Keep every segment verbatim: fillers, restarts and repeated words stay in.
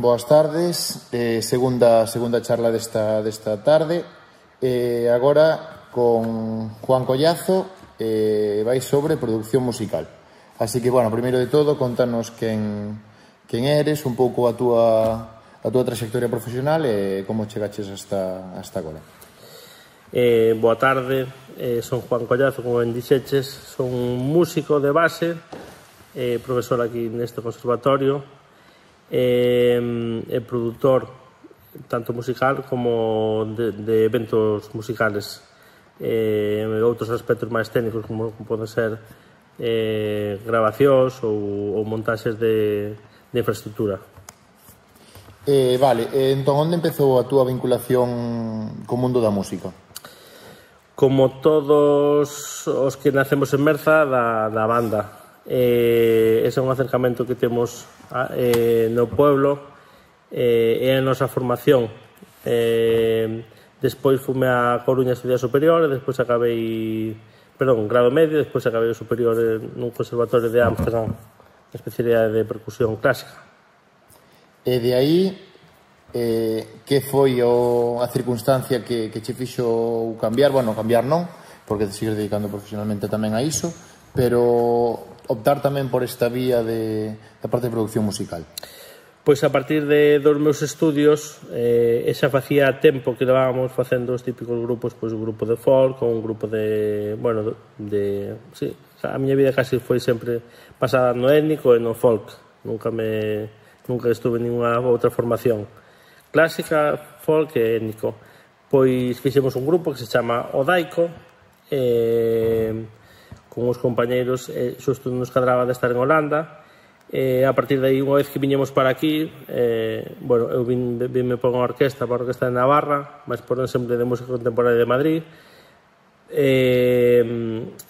boas tardes, eh, segunda, segunda charla desta, desta tarde. Eh, agora con Juan Collazo eh, vai sobre producción musical. Así que, bueno, primeiro de todo, contanos quen, quen eres, un pouco a túa, a túa trayectoria profesional e como chegaches hasta, hasta agora. Eh, boa tarde, eh, son Juan Collazo, como ben dixeches, son músico de base, eh, profesor aquí neste conservatorio, e eh, eh, produtor tanto musical como de, de eventos musicales, eh, outros aspectos máis técnicos como, como poden ser eh, grabacións ou, ou montaxes de, de infraestructura. Eh, vale, eh, entón onde empezou a túa vinculación co mundo da música? Como todos os que nacemos en Merza, da, da banda. Eh, ese é un acercamento que temos eh, no pueblo, eh, é a nosa formación. Eh, despois fume a Coruña a estudiar superior, e despois acabei, perdón, grado medio, despois acabei o superior nun conservatorio de Ámsterdam, na especialidade de percusión clásica. E de aí, eh, que foi o, a circunstancia que, que che fixo cambiar, bueno, cambiar non, porque te sigues dedicando profesionalmente tamén a iso, pero optar tamén por esta vía de, da parte de producción musical? Pois a partir de dos meus estudios, eh, xa facía tempo que levábamos facendo os típicos grupos, pois un grupo de folk, ou un grupo de, bueno, de, sí, a miña vida casi foi sempre pasada no étnico e no folk, nunca me, nunca estuve en ninguna outra formación, clásica, folk e étnico. Pois fixemos un grupo que se chama Odaico, eh, con os compañeiros, eh, xusto nos cadraba de estar en Holanda, e a partir de aí, unha vez que viñemos para aquí, eh, bueno, eu vin, vinme por unha orquesta, por a orquesta de Navarra, máis por un ensemble de música contemporánea de Madrid, e,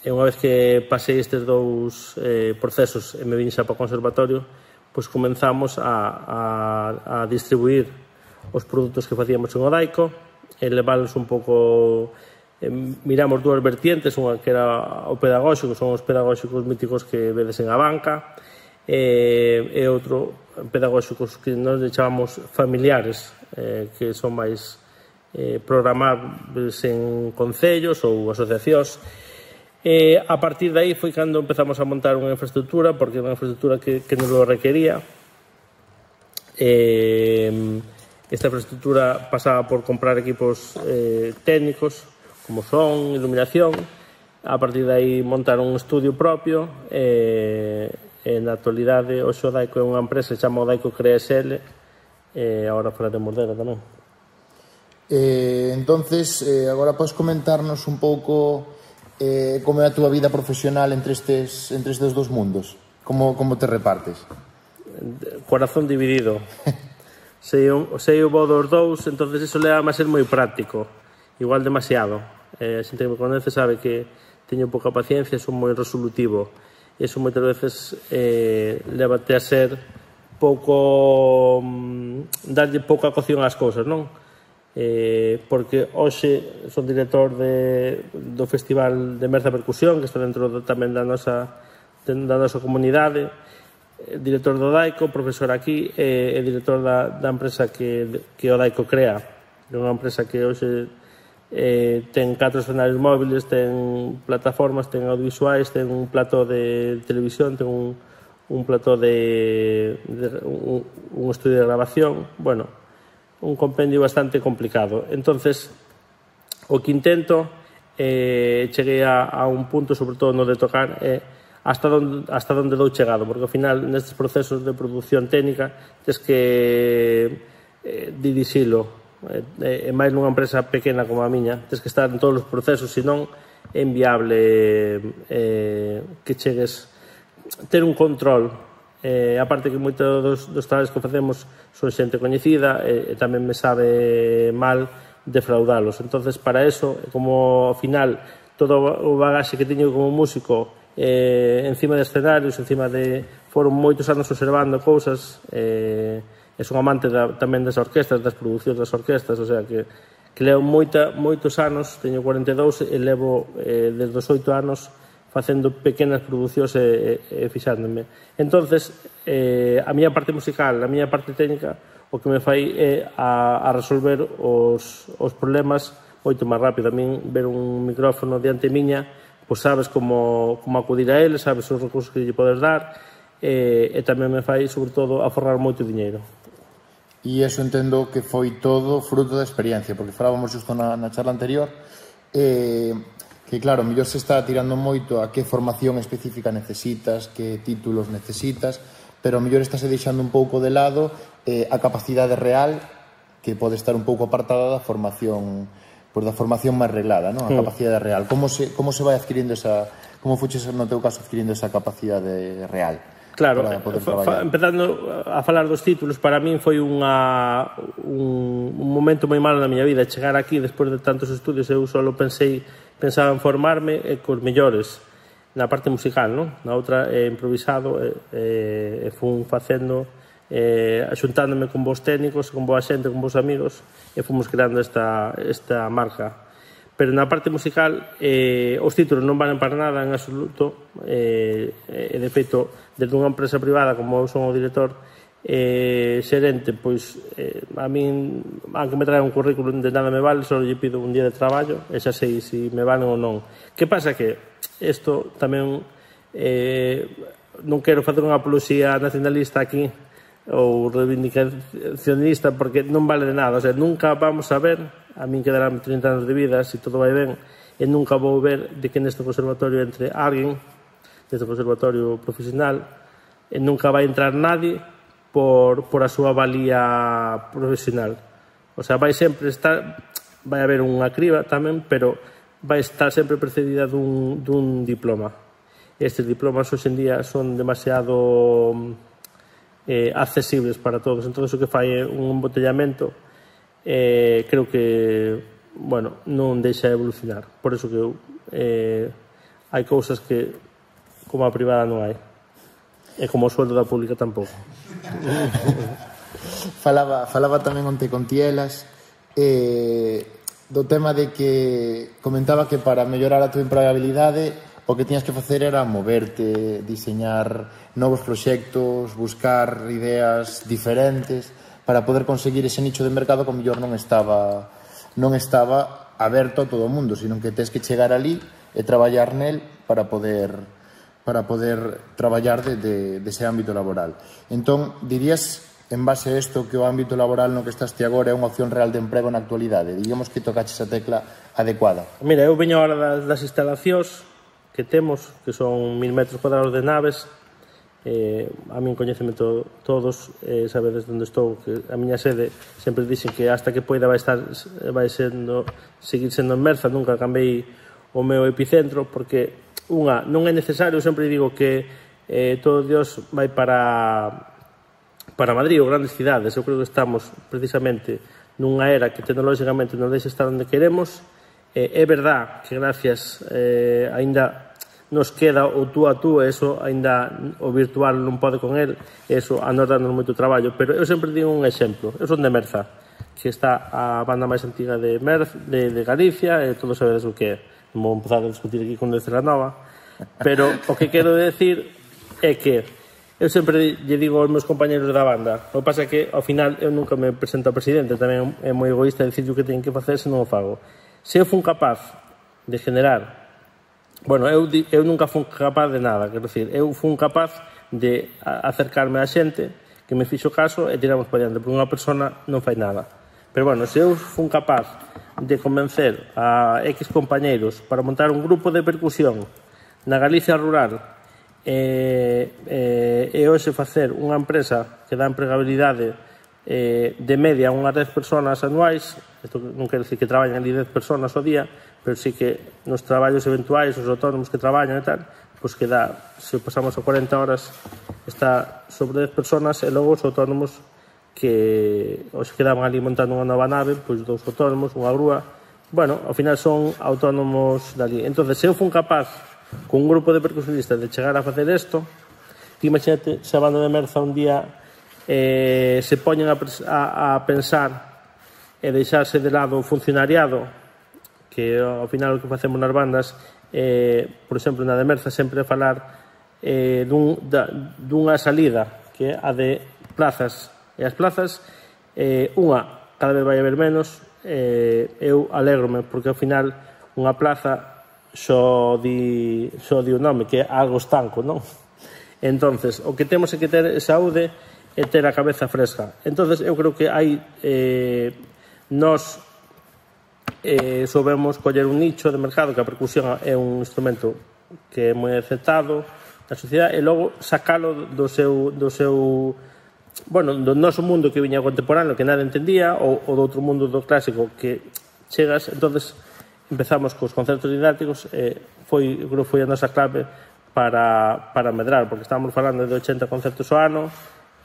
e unha vez que pasei estes dous eh, procesos e me vin xa para o conservatorio, pois comenzamos a, a, a distribuir os produtos que facíamos en Odaico e leválos un pouco... Miramos dúas vertientes, unha que era o pedagóxico, son os pedagóxicos míticos que vedes en a banca, e, e outro pedagóxicos que nos chamamos familiares, eh, que son máis eh, programables en concellos ou asociacións. E a partir de aí foi cando empezamos a montar unha infraestructura, porque era unha infraestructura que, que nos lo requería. E, esta infraestructura pasaba por comprar equipos eh, técnicos, como son, iluminación. A partir de aí montar un estudio propio, e, e na actualidade o Odaico é unha empresa que se chama Odaico Crea S L, e agora falaremos dela tamén. Eh, entonces, eh, agora podes comentarnos un pouco eh, como é a túa vida profesional entre estes, entre estes dos mundos? Como, como te repartes? Corazón dividido. sei, un, sei o bo dos dous, entonces iso leva a ser moi práctico, igual demasiado. Eh, a xente que me conoce sabe que teño pouca paciencia, son moi resolutivo. Iso moitas veces eh, levate a ser pouco... Mm, darlle pouca cocción ás cousas, non? Eh, porque hoxe son director de, do Festival de Merza Percusión, que está dentro do, tamén da nosa, da nosa comunidade, director do Odaico, profesor aquí, e, e director da, da empresa que, que Odaico crea. É unha empresa que hoxe Eh, ten catro escenarios móviles, ten plataformas, ten audiovisuais, ten un plató de televisión, ten un, un plató de, de un, un estudio de grabación, bueno, un compendio bastante complicado. Entonces, o que intento, eh, cheguei a, a un punto, sobre todo no de tocar, eh, hasta donde, hasta donde dou chegado, porque ao final nestes procesos de produción técnica tens que eh, dirixilo. E máis nunha empresa pequena como a miña, tens que estar en todos os procesos, senón é inviable eh, que chegues ter un control. Eh, aparte que moitos dos, dos traballos que facemos son xente coñecida, e, e tamén me sabe mal defraudalos. Entonces, para eso, como ao final todo o bagaxe que teño como músico eh, encima de escenarios, encima de... foron moitos anos observando cousas, eh, e son amante da, tamén das orquestas, das producións das orquestas, o sea que, que levo moita, moitos anos, teño cuarenta e dous e levo eh, desde os oito anos facendo pequenas producións e, e, e fixándome. Entonces, eh, a miña parte musical, a miña parte técnica, o que me fai é a, a resolver os, os problemas moito máis rápido. A min ver un micrófono diante miña, pois sabes como, como acudir a ele, sabes os recursos que lle podes dar, e, e tamén me fai, sobre todo, aforrar moito diñeiro. E iso entendo que foi todo fruto da experiencia, porque falábamos justo na, na charla anterior, eh, que claro, mellor se está tirando moito a que formación específica necesitas, que títulos necesitas, pero mellor estás deixando un pouco de lado eh, a capacidade real, que pode estar un pouco apartada da formación, pois da formación máis reglada, non? A capacidade real. Como se, como se vai adquirindo esa, como fuches no teu caso adquirindo esa capacidade real? Claro, empezando a falar dos títulos, para min foi unha, un, un momento moi malo na miña vida. Chegar aquí, despois de tantos estudios, eu só pensei, pensaba en formarme e cos mellores na parte musical, non? Na outra, eh, improvisado, e eh, eh, fun facendo, eh, axuntándome con vos técnicos, con boa xente, con vos amigos, e fomos creando esta, esta marca. Pero na parte musical, eh, os títulos non valen para nada en absoluto, e, eh, de feito, desde unha empresa privada, como eu son o director, eh, xerente, pois, eh, a min, aunque me trae un currículum de nada me vale, só lle pido un día de traballo, e xa sei se me valen ou non. Que pasa que isto tamén, eh, non quero facer unha apoloxía nacionalista aquí, ou reivindicacionista, porque non vale de nada. O sea, nunca vamos a ver, a min quedarán trinta anos de vida, se todo vai ben, e nunca vou ver de que neste conservatorio entre alguén, neste conservatorio profesional, e nunca vai entrar nadie por, por a súa valía profesional. O sea, vai sempre estar, vai haber unha criba tamén, pero vai estar sempre precedida dun, dun diploma. Estes diplomas hoxe en día son demasiado eh, accesibles para todos. Entón, o que fai é un embotellamento, eh, creo que, bueno, non deixa evolucionar. Por eso que eh, hai cousas que como a privada non hai. E como o sueldo da pública tampouco. falaba, falaba tamén onte con Tielas, eh, do tema de que comentaba que para mellorar a tua empregabilidade o que tiñas que facer era moverte, diseñar novos proxectos, buscar ideas diferentes para poder conseguir ese nicho de mercado que mellor non estaba non estaba aberto a todo o mundo, sino que tens que chegar ali e traballar nel para poder para poder traballar de, de, de ese ámbito laboral. Entón, dirías, en base a isto, que o ámbito laboral no que estás ti agora é unha opción real de emprego na actualidade? Digamos que tocaches a tecla adecuada. Mira, eu veño ahora das, das instalacións que temos, que son mil metros cuadrados de naves, eh, a min coñeceme to, todos, eh, sabedes onde estou, que a miña sede sempre dixen que hasta que poida vai estar, vai sendo, seguir sendo en Merza, nunca cambiei o meu epicentro, porque unha, non é necesario, sempre digo que eh, todo Dios vai para para Madrid ou grandes cidades. Eu creo que estamos precisamente nunha era que tecnológicamente nos deixa estar onde queremos. Eh, é verdad que gracias eh, aínda nos queda o tú a tú, eso aínda o virtual non pode con el, eso a nos darnos moito traballo, pero eu sempre digo un exemplo. Eu son de Merza, que está a banda máis antiga de, Merz, de, de Galicia, e todos sabedes o que é. Non vou empezar a discutir aquí con Destra Nova, pero o que quero decir é que eu sempre lle digo aos meus compañeros da banda, o que pasa é que ao final eu nunca me presento a presidente, tamén é moi egoísta dicir o que teñen que facer se non o fago. Se eu fun capaz de generar, bueno, eu, eu nunca fun capaz de nada, quero dicir, eu fun capaz de acercarme á xente que me fixo caso e tiramos para diante, porque unha persona non fai nada. Pero bueno, se eu fun capaz de convencer a X compañeiros para montar un grupo de percusión na Galicia rural e, e, e hoxe facer unha empresa que dá empregabilidade eh, de media unhas dez personas anuais, isto non quero dicir que traballan ali dez personas ao día, pero sí que nos traballos eventuais, os autónomos que traballan e tal, pois que dá, se pasamos a cuarenta horas, está sobre dez personas, e logo os autónomos que os quedaban ali montando unha nova nave, pois dous autónomos, unha grúa, bueno, ao final son autónomos dali. Entón, se eu fun capaz con un grupo de percusionistas de chegar a facer isto, que imagínate se a banda de Merza un día eh, se poñen a, a, a pensar e deixarse de lado o funcionariado, que ao final o que facemos nas bandas, eh, por exemplo, na de Merza sempre falar eh, dun, da, dunha salida que é a de plazas. E as plazas Eh, unha, cada vez vai haber menos, eh, eu alégrome, porque ao final unha plaza só di, só di o nome, que é algo estanco, non? Entonces, o que temos é que ter saúde e ter a cabeza fresca. Entonces, eu creo que hai eh, nós eh, soubemos coller un nicho de mercado, que a percusión é un instrumento que é moi aceptado na sociedade, e logo sacalo do seu, do seu bueno, do noso mundo que viña contemporáneo, que nada entendía, ou, ou do outro mundo do clásico que chegas. Entonces empezamos cos concertos didácticos, e foi, creo, foi a nosa clave para, para medrar, porque estábamos falando de ochenta concertos ao ano,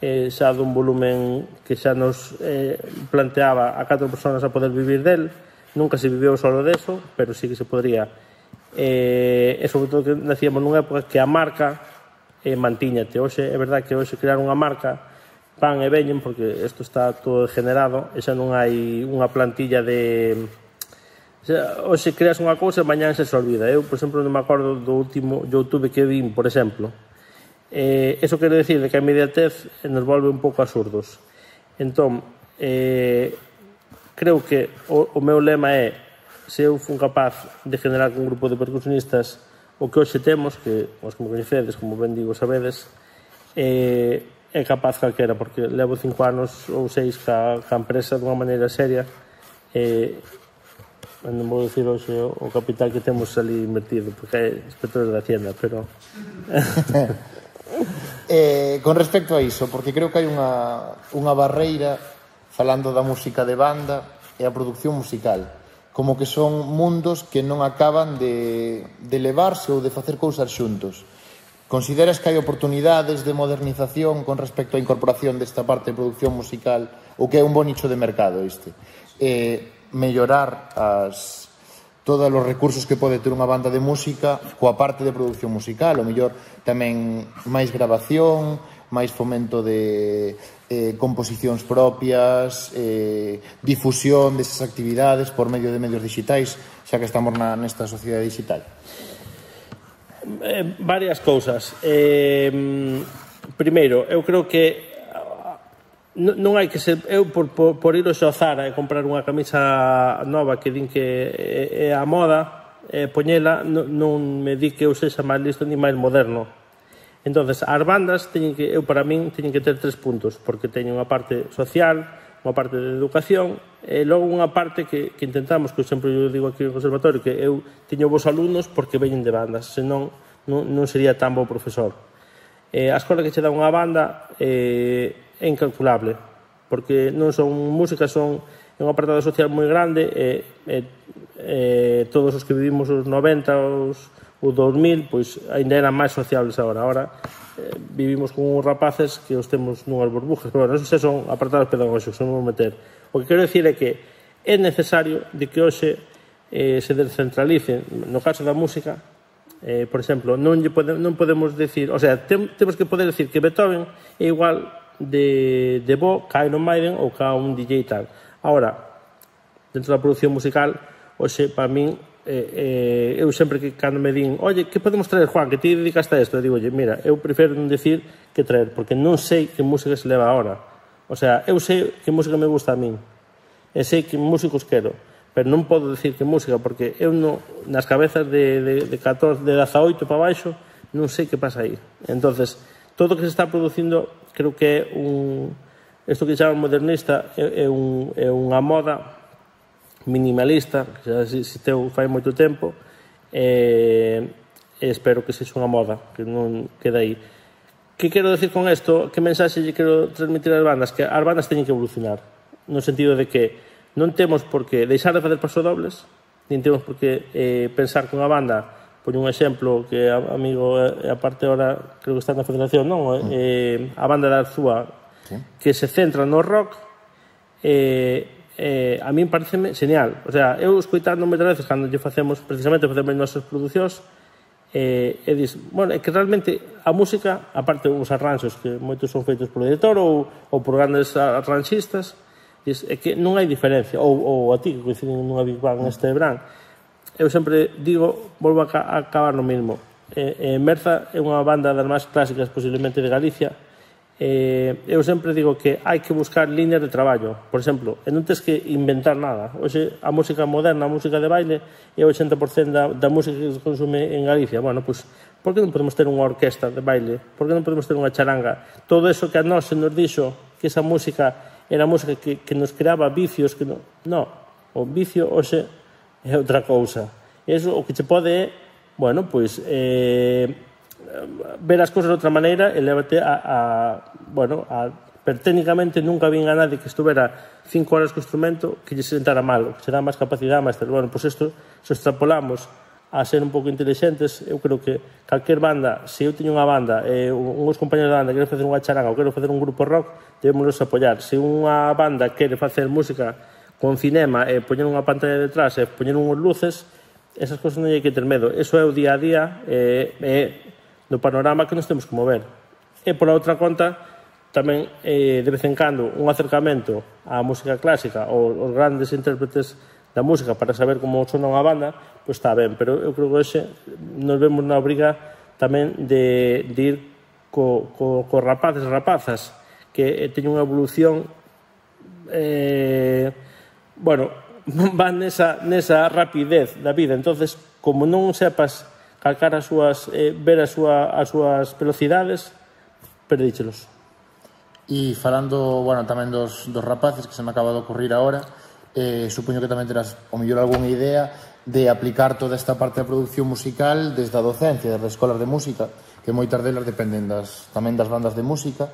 eh, xa dun volumen que xa nos eh, planteaba a catro personas a poder vivir del. Nunca se viveu solo deso, pero sí que se podría. Eh, e sobre todo que nacíamos nunha época que a marca eh, mantíñate. Hoxe, é verdad que hoxe crear unha marca van e veñen, porque isto está todo degenerado, e xa non hai unha plantilla de... Hoxe creas unha cousa e mañán se se olvida. Eu, por exemplo, non me acordo do último YouTube que vin, por exemplo. Eh, eso quero decir de que a inmediatez nos volve un pouco absurdos. Entón, eh, creo que o, o meu lema é: se eu fun capaz de generar un grupo de percusionistas o que hoxe temos, que os que me coñecedes, como ben digo, sabedes, eh, é capaz calquera, porque levo cinco anos ou seis ca, ca empresa dunha maneira seria. Eh, non vou dicir hoxe o capital que temos ali invertido, porque é inspectores da Hacienda, pero... eh, con respecto a iso, porque creo que hai unha, unha barreira falando da música de banda e a produción musical, como que son mundos que non acaban de, de levarse ou de facer cousas xuntos. Consideras que hai oportunidades de modernización con respecto á incorporación desta parte de producción musical, ou que é un bon nicho de mercado este? Eh, mellorar as, todos os recursos que pode ter unha banda de música coa parte de produción musical, o mellor tamén máis grabación, máis fomento de eh, composicións propias, eh, difusión desas actividades por medio de medios digitais, xa que estamos na, nesta sociedade digital. Eh, varias cousas. Eh, primeiro, eu creo que non hai que ser... Eu, por, por, por ir ao Zara e comprar unha camisa nova que din que é, é a moda, e poñela, non, non me di que eu sexa máis listo ni máis moderno. Entonces, as bandas, teñen que, eu para min, teñen que ter tres puntos, porque teñen unha parte social, unha parte de educación, e logo unha parte que, que intentamos, que eu sempre eu digo aquí no conservatorio, que eu teño vos alumnos porque veñen de bandas, senón non, non sería tan bo profesor. Eh, a escola que che dá unha banda eh, é incalculable, porque non son música, son un apartado social moi grande, e, e, e todos os que vivimos os noventa, os, os dos mil, pois ainda eran máis sociables agora. Agora eh, vivimos con uns rapaces que os temos nunhas burbujas, pero bueno, esos son apartados pedagóxicos, non vou meter. O que quero dicir é que é necesario de que hoxe eh, se descentralice. No caso da música, eh, por exemplo, non, lle pode, non podemos decir, o sea, tem, temos que poder decir que Beethoven é igual de, de bo ca Iron Maiden ou ca un D J tal. Ahora, dentro da produción musical, hoxe, para min, eh, eh, eu sempre que cando me din, oye, que podemos traer, Juan, que ti dedicaste a isto? Eu digo, oye, mira, eu prefiro non decir que traer, porque non sei que música se leva ahora. O sea, eu sei que música me gusta a min, e sei que músicos quero, pero non podo decir que música, porque eu no, nas cabezas de, de, de catorce, de dezaoito para baixo, non sei que pasa aí. Entonces, todo o que se está producindo, creo que é un... Isto que chaman modernista é, é, un, é unha moda minimalista, que xa existeu fai moito tempo, e, e espero que sexa unha moda, que non quede aí. Que quero decir con isto? Que mensaxe lle quero transmitir ás bandas? Que as bandas teñen que evolucionar, no sentido de que non temos por que deixar de fazer pasodobles, nin temos por que eh, pensar que unha banda... Poño un exemplo que a amigo, e a parte ahora creo que está na Federación, non? Mm. Eh, a banda da Arzúa, sí, que se centra no rock, eh, eh, a min pareceme genial. O sea, eu escoitando moitas veces cando lle facemos, precisamente facemos as nosas producións, eh, e dis, bueno, é que realmente a música, aparte os arranxos, que moitos son feitos polo director ou, ou por grandes arranxistas, dis, é que non hai diferencia. Ou, ou a ti, que coinciden nunha Big Bang este verán, eu sempre digo, volvo a, a acabar no mismo. Eh, eh, Merza é unha banda das máis clásicas posiblemente de Galicia, Eh, eu sempre digo que hai que buscar líneas de traballo. Por exemplo, e non tens que inventar nada. Hoxe, a música moderna, a música de baile, é o oitenta por cento da, da música que se consume en Galicia. Bueno, pois, por que non podemos ter unha orquesta de baile? Por que non podemos ter unha charanga? Todo eso que a nós se nos dixo que esa música era música que, que nos creaba vicios, que non... No, o vicio hoxe é outra cousa. Eso o que che pode é, bueno, pois, eh, ver as cousas de outra maneira e levate a, a bueno, a, pero técnicamente nunca vin a nadie que estuvera cinco horas co instrumento que lle sentara mal, que se dá máis capacidade, máis tal. Bueno, pois isto, se extrapolamos a ser un pouco inteligentes, eu creo que calquer banda, se eu teño unha banda e uns compañeros da banda queren facer unha charanga ou queren facer un grupo rock, debemos apoiar. Se unha banda quere facer música con cinema e poñer unha pantalla detrás e poñer unhas luces, esas cousas non hai que ter medo. Eso é o día a día e, e no panorama que nos temos que mover. E por a outra conta, tamén eh, de vez en cando un acercamento á música clásica ou os grandes intérpretes da música para saber como sona unha banda, pois está ben, pero eu creo que hoxe nos vemos na obriga tamén de, de ir co, co, co rapaces e rapazas que teñen unha evolución eh, bueno, van nesa, nesa rapidez da vida. Entonces, como non sepas calcar as súas, eh, ver as, súa, as súas velocidades, perdíchelos. E falando, bueno, tamén dos, dos rapaces que se me acaba de ocurrir agora, eh, supoño que tamén terás, o mellor, algunha idea de aplicar toda esta parte da producción musical desde a docencia, desde as escolas de música, que moitas delas dependen das, tamén das bandas de música.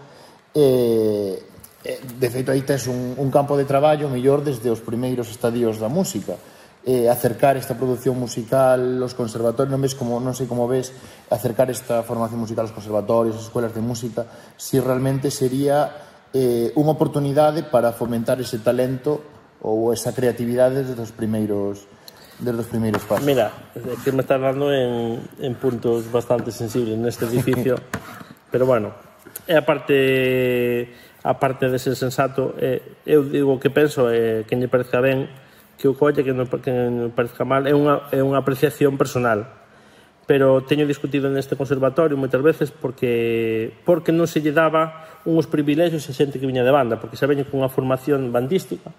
Eh, de feito, aí tes un, un campo de traballo mellor desde os primeiros estadios da música. Eh, acercar esta producción musical aos conservatorios, non ves como, non sei como ves acercar esta formación musical aos conservatorios, as escuelas de música, si realmente sería eh, unha oportunidade para fomentar ese talento ou esa creatividade desde os primeiros desde os primeiros pasos. Mira, é que me estás dando en, en puntos bastante sensibles neste edificio, pero bueno, é a parte a parte de ser sensato, eh, eu digo que penso, eh, que me parezca ben que o colle, que non, que non parezca mal, é unha, é unha apreciación personal. Pero teño discutido neste conservatorio moitas veces porque porque non se lle daba uns privilegios a xente que viña de banda, porque xa veñen con unha formación bandística.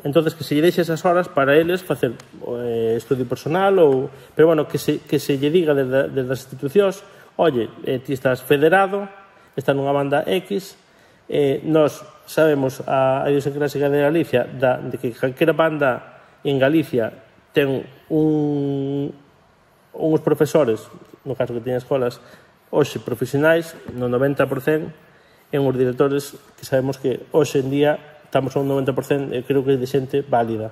Entonces, que se lle deixe esas horas para eles facer eh, estudio personal, ou, pero bueno, que se, que se lle diga desde, desde as institucións, oye, eh, ti estás federado, estás nunha banda X, eh, nós sabemos a, a idiosincrasia de Galicia da, de que calquera banda en Galicia ten un, uns profesores, no caso que teña escolas, hoxe profesionais, no noventa por cento, en os directores que sabemos que hoxe en día estamos a un noventa por cento, e creo que é de xente válida.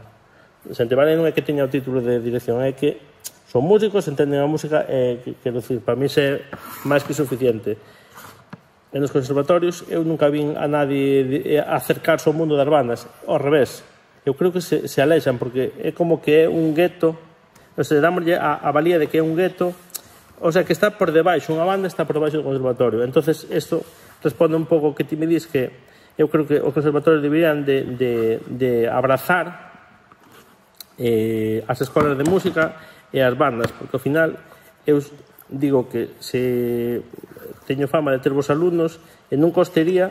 Xente válida non é que teña o título de dirección, é que son músicos, entenden a música, e, quero dicir, para mí é máis que suficiente. En os conservatorios eu nunca vin a nadie acercarse ao mundo das bandas, ao revés. Eu creo que se, se alexan, porque é como que é un gueto, o sea, dámoslle a, a valía de que é un gueto, o sea, que está por debaixo, unha banda está por debaixo do conservatorio. Entonces, isto responde un pouco que ti me dis que eu creo que os conservatorios deberían de, de, de abrazar eh, as escolas de música e as bandas, porque ao final eu digo que se teño fama de ter vos alumnos e non costería,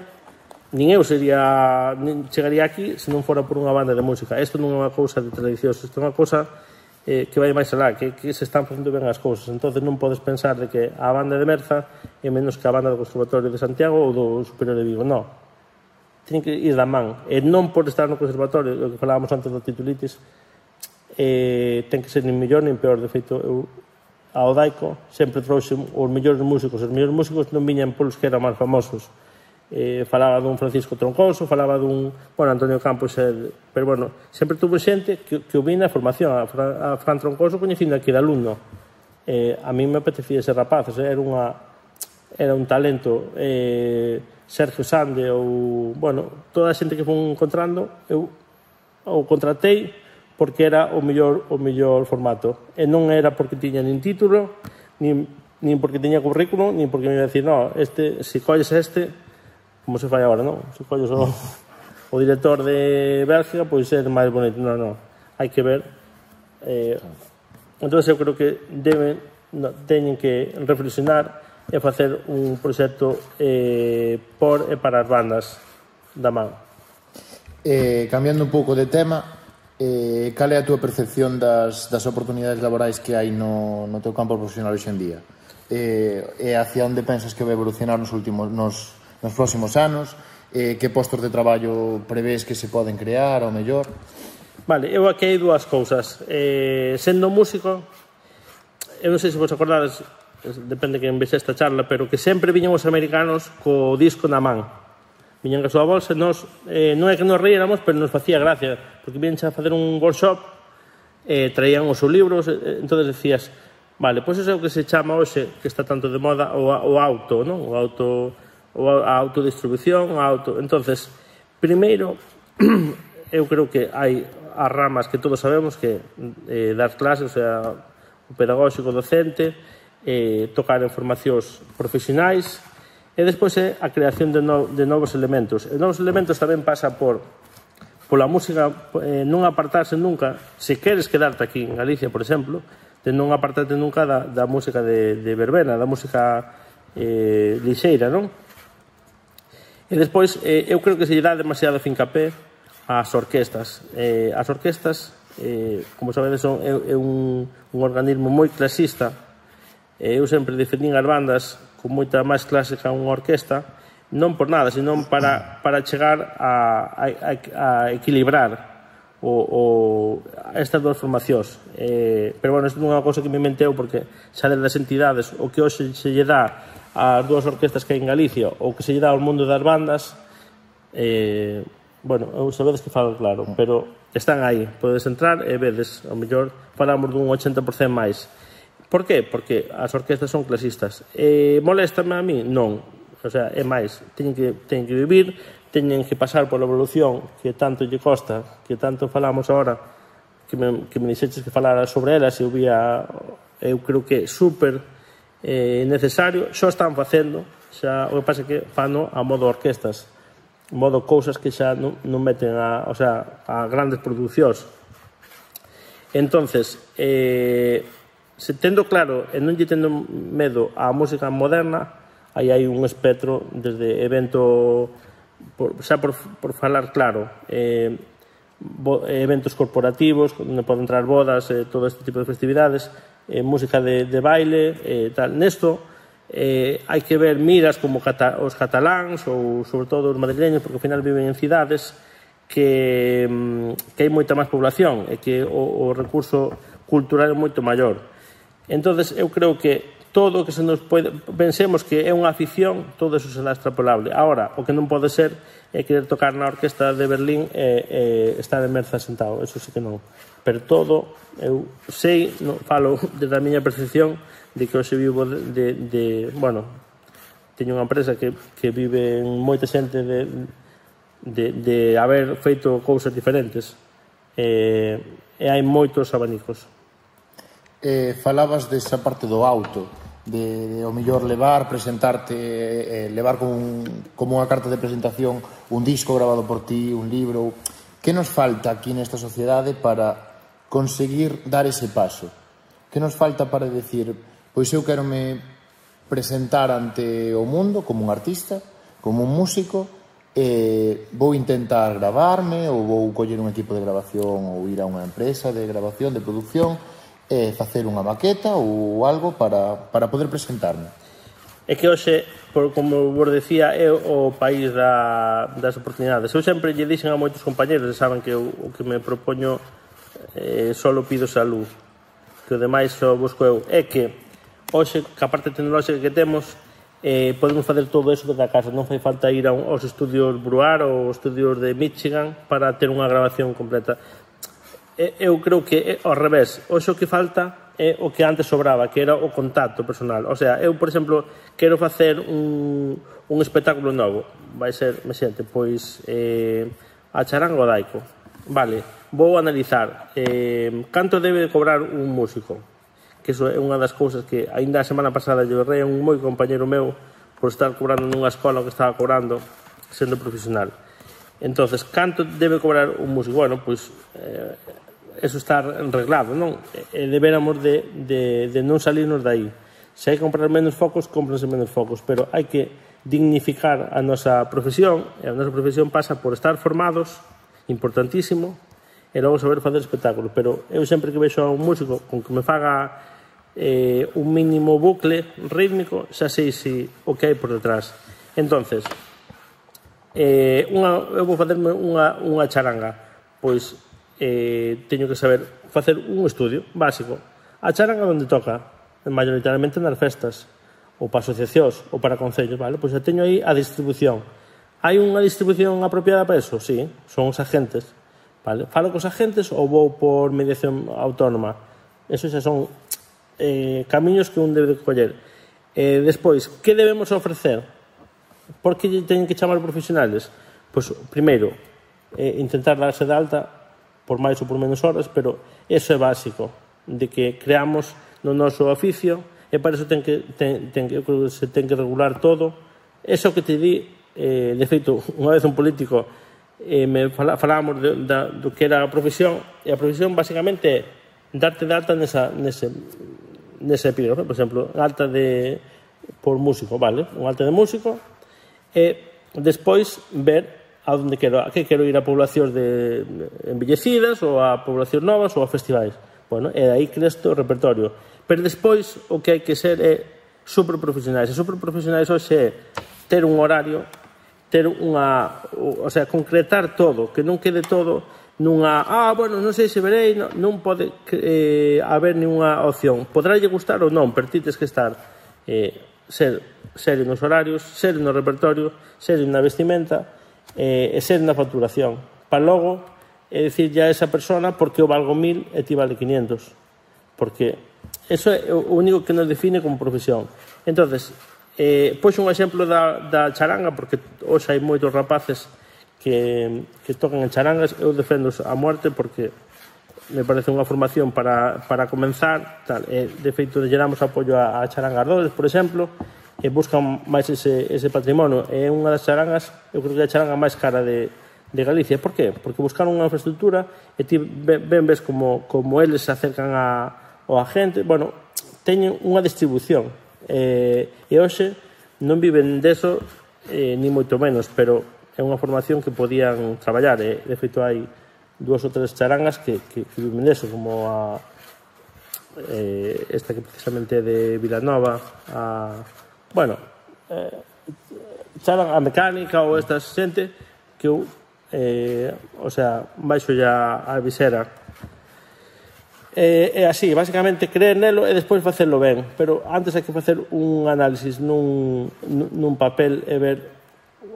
nin eu sería, nin chegaría aquí se non fora por unha banda de música. Isto non é unha cousa de tradicións, isto é unha cousa eh, que vai máis alá, que, que se están facendo ben as cousas. Entonces non podes pensar de que a banda de Merza é menos que a banda do Conservatorio de Santiago ou do Superior de Vigo. Non, ten que ir da man, e non por estar no conservatorio, o que falábamos antes da titulitis, eh, ten que ser nin mellor nin peor. De feito, eu ao Daico sempre trouxe os mellores músicos. Os mellores músicos non viñan polos que eran máis famosos. Eh, falaba dun Francisco Troncoso, falaba dun, bueno, Antonio Campos, eh, pero bueno, sempre tuvo xente que, que o vina a formación. A Fran, a Fran Troncoso coñecindo aquí de alumno. Eh, a mí me apetecía ser rapaz, o sea, era unha era un talento. Eh, Sergio Sande ou, bueno, toda a xente que fui encontrando, eu o contratei porque era o mellor o mellor formato. E non era porque tiña nin título, nin, nin porque tiña currículum, nin porque me iba a decir, no, este, se colles este, como se fai agora, non? Se colles o, o director de Bélgica, pois é máis bonito. Non, non, hai que ver. Eh, entón, eu creo que deben, no, teñen que reflexionar e facer un proxecto eh, por e para as bandas da man. Eh, cambiando un pouco de tema, eh, cal é a túa percepción das, das oportunidades laborais que hai no, no teu campo profesional hoxe en día? Eh, e hacia onde pensas que vai evolucionar nos últimos nos, nos próximos anos? Eh, que postos de traballo prevés que se poden crear ao mellor? Vale, eu aquí hai dúas cousas. Eh, sendo músico, eu non sei se vos acordades, depende que envexe esta charla, pero que sempre viñan os americanos co disco na man. Viñan a súa bolsa, nos, eh, non é que nos reíramos, pero nos facía gracia, porque viñan a facer un workshop, eh, traían os seus libros, eh, entón decías, vale, pois iso é o que se chama hoxe, que está tanto de moda, o, o auto, non? O auto, o, a autodistribución, o auto... Entonces, primeiro, eu creo que hai as ramas que todos sabemos, que eh, dar clases, o sea, o pedagóxico docente, eh, tocar en formacións profesionais, e despois é a creación de, no, de novos elementos. E novos elementos tamén pasa por pola música, eh, non apartarse nunca, se queres quedarte aquí en Galicia, por exemplo, de non apartarte nunca da, da música de, de verbena, da música eh, lixeira, non? E despois, eh, eu creo que se lle dá demasiado fincapé ás orquestas. Eh, as orquestas, eh, como sabedes, son, é, é un, un organismo moi clasista. Eh, eu sempre defendín as bandas con moita máis clásica unha orquesta, non por nada, senón para, para chegar a, a, a equilibrar o, o, estas dúas formacións. Eh, pero, bueno, isto non é unha cosa que me inventeu, porque xa das entidades, o que hoxe se lle dá ás dúas orquestas que hai en Galicia, ou que se lle dá ao mundo das bandas, eh, bueno, eu sabedes que falo claro, pero están aí, podes entrar e vedes, ao mellor falamos dun ochenta por cento máis. Por qué? Porque as orquestas son clasistas. Eh, moléstame a mí? Non. O sea, é máis. Teñen que, teñen que vivir, teñen que pasar pola evolución que tanto lle costa, que tanto falamos agora, que me, que me dixeches que falara sobre elas, eu vía, eu creo que é super eh, necesario. Xa están facendo, xa, o que pasa é que fano a modo orquestas, modo cousas que xa non, non meten a, o sea, a grandes producións. Entonces, eh, se tendo claro e non lle tendo medo á música moderna, aí hai un espectro desde evento, por, xa por, por falar claro, eh, bo, eventos corporativos, onde poden entrar bodas, eh, todo este tipo de festividades, eh, música de, de baile, eh, tal. Nesto, eh, hai que ver miras como cata, os cataláns ou sobre todo os madrileños, porque ao final viven en cidades que, que hai moita máis población e que o, o recurso cultural é moito maior. Entonces, eu creo que todo o que se nos pode... Pensemos que é unha afición, todo eso será extrapolable. Ahora, o que non pode ser é querer tocar na orquesta de Berlín e, e estar en Merza sentado. Eso sí que non. Pero todo, eu sei, no, falo desde a miña percepción de que hoxe vivo de... de, de bueno, teño unha empresa que, que vive en moita xente de, de, de haber feito cousas diferentes. E, e hai moitos abanicos. Eh, falabas desa parte do auto, de, de o mellor levar, presentarte, eh, levar como, un, como unha carta de presentación un disco grabado por ti, un libro. Que nos falta aquí nesta sociedade para conseguir dar ese paso? Que nos falta para decir, pois eu quero me presentar ante o mundo como un artista, como un músico, eh, vou intentar gravarme ou vou coller un equipo de grabación ou ir a unha empresa de grabación, de producción, e facer unha maqueta ou algo para, para poder presentarme. É que hoxe, por, como vos decía, é o país da, das oportunidades. Eu sempre lle dixen a moitos compañeros, e saben que eu, o que me propoño eh, solo pido salud, que o demais só busco eu. É que hoxe, que a parte tecnolóxica que temos, eh, podemos facer todo eso desde a casa. Non fai falta ir a un, aos estudios Bruar ou aos estudios de Michigan para ter unha grabación completa. Eu creo que é ao revés. Hoxe o que falta é o que antes sobraba, que era o contacto personal. O sea, eu, por exemplo, quero facer un, un espectáculo novo. Vai ser, me xente, pois eh, a charanga o daico. Vale, vou analizar eh, canto debe cobrar un músico, que iso é unha das cousas que ainda a semana pasada lle berrei a un moi compañero meu por estar cobrando nunha escola que estaba cobrando sendo profesional. Entonces, canto debe cobrar un músico? Bueno, pois eh, eso está arreglado, non? E deberamos de, de, de non salirnos de aí. Se hai que comprar menos focos, cómpranse menos focos, pero hai que dignificar a nosa profesión, e a nosa profesión pasa por estar formados, importantísimo, e logo saber facer espectáculo. Pero eu sempre que vexo a un músico con que me faga eh, un mínimo bucle rítmico, xa sei si o que hai por detrás. Entonces, eh, unha, eu vou facerme unha, unha charanga, pois eh, teño que saber facer un estudio básico. A charanga onde toca, maioritariamente nas festas, ou para asociacións, ou para concellos, vale? Pois xa teño aí a distribución. Hai unha distribución apropiada para eso? Sí, son os agentes, vale? Falo cos agentes ou vou por mediación autónoma? Eso xa son eh, camiños que un debe de coller. Eh, despois, que debemos ofrecer? Por que teñen que chamar profesionales? Pois, primeiro, eh, intentar darse de alta por máis ou por menos horas, pero eso é básico, de que creamos no noso oficio, e para eso ten que, ten, ten, eu creo que se ten que regular todo. Eso que te di, eh, de feito, unha vez un político eh, me fala, falábamos de, da, do que era a profesión, e a profesión basicamente é darte de alta nesa, nese, nese epígrafe, por exemplo, alta de por músico, vale? Un alta de músico, e despois ver a onde quero, a que quero ir a poblacións de envellecidas, ou a poblacións novas, ou a festivais. Bueno, e aí creas o repertorio. Pero despois o que hai que ser é superprofesionais. E superprofesionais hoxe é ter un horario, ter unha, o sea, concretar todo, que non quede todo nunha, ah, bueno, non sei se verei, non, non pode eh, haber ninguna opción. Podrálle gustar ou non, pero ti tes que estar eh, ser serio nos horarios, serio no repertorio, serio na vestimenta eh, e serio na facturación. Para logo é dicir ya a esa persona porque eu valgo mil e ti vale quinientos. Porque eso é o único que nos define como profesión. Entonces, eh, pois un exemplo da, da charanga, porque hoxe hai moitos rapaces que, que tocan en charangas. Eu defendo a muerte porque me parece unha formación para, para comenzar tal. E, de feito, lle damos apoio a, a charangas Dores, por exemplo, e buscan máis ese, ese patrimonio. É unha das charangas, eu creo que é a charanga máis cara de, de Galicia. Por qué? Porque buscaron unha infraestructura e ti ben ves como, como eles se acercan a o agente, bueno, teñen unha distribución eh, e hoxe non viven deso eh, ni moito menos, pero é unha formación que podían traballar e, de feito, hai dúas ou tres charangas que, que, que viven deso, como a eh, esta que precisamente é de Vilanova, a, bueno, eh, charanga, a mecánica ou esta xente que eu, eh, o sea, baixo ya a visera. É, é así, basicamente creer nelo e despois facelo ben, pero antes hai que facer un análisis nun, nun papel e ver